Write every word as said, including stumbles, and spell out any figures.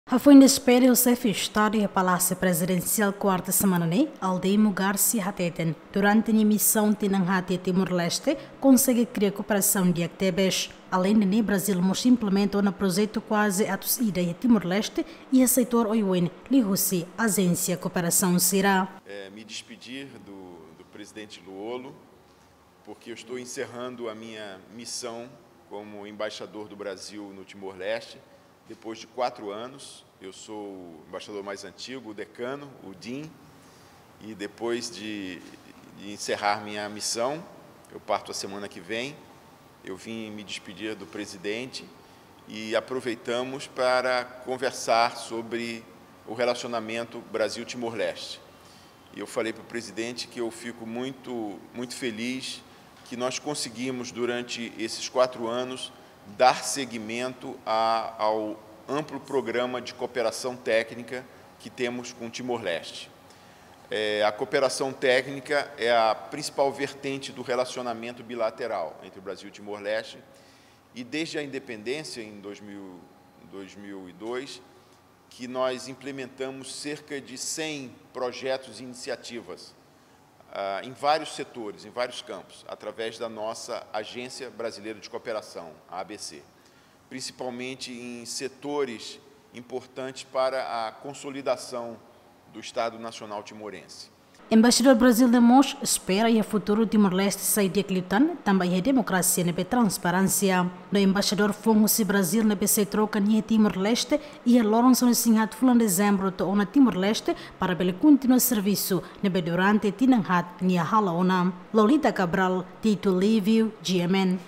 Hafoin despede ho Xefe Estadu iha Palásiu Prezidensiál kuarta semana ne'e, Aldemo Garcia hateten, durante nia misaun tinan haat iha Timor-Leste, konsege kria kooperasaun di'ak tebes. Aleinde ne'e, Brazil mós implementa ona projetu kuaze atus ida iha Timor-Leste iha setór oioin liuhusi ajénsia kooperasaun sira. É, me despedir do, do presidente Lú-Olo, porque eu estou encerrando a minha missão como embaixador do Brasil no Timor-Leste, depois de quatro anos. Eu sou o embaixador mais antigo, o decano, o Dean, e depois de, de encerrar minha missão, eu parto a semana que vem, eu vim me despedir do presidente e aproveitamos para conversar sobre o relacionamento Brasil-Timor-Leste. E eu falei para o presidente que eu fico muito, muito feliz que nós conseguimos, durante esses quatro anos, dar seguimento a, ao amplo programa de cooperação técnica que temos com Timor-Leste. É, a cooperação técnica é a principal vertente do relacionamento bilateral entre o Brasil e Timor-Leste, e desde a independência, em dois mil, dois mil e dois, que nós implementamos cerca de cem projetos e iniciativas, ah, em vários setores, em vários campos, através da nossa Agência Brasileira de Cooperação, a A B C, principalmente em setores importantes para a consolidação do Estado Nacional Timorense. Embaixadór Brazil ne'e mós espera iha futuru Timor-Leste sai di'ak liután, tanba iha demokrasia ne'ebé transparénsia. No embaixadór foun husi Brazil ne'ebé sei troka nia iha Timor-Leste iha loron sanulu-resin-haat fulan Dezembru to'o ona Timor-Leste para bele kontinua servisu ne'ebé durante tinan haat nia halo ona. Lolita Cabral, Tito Livio, G M N.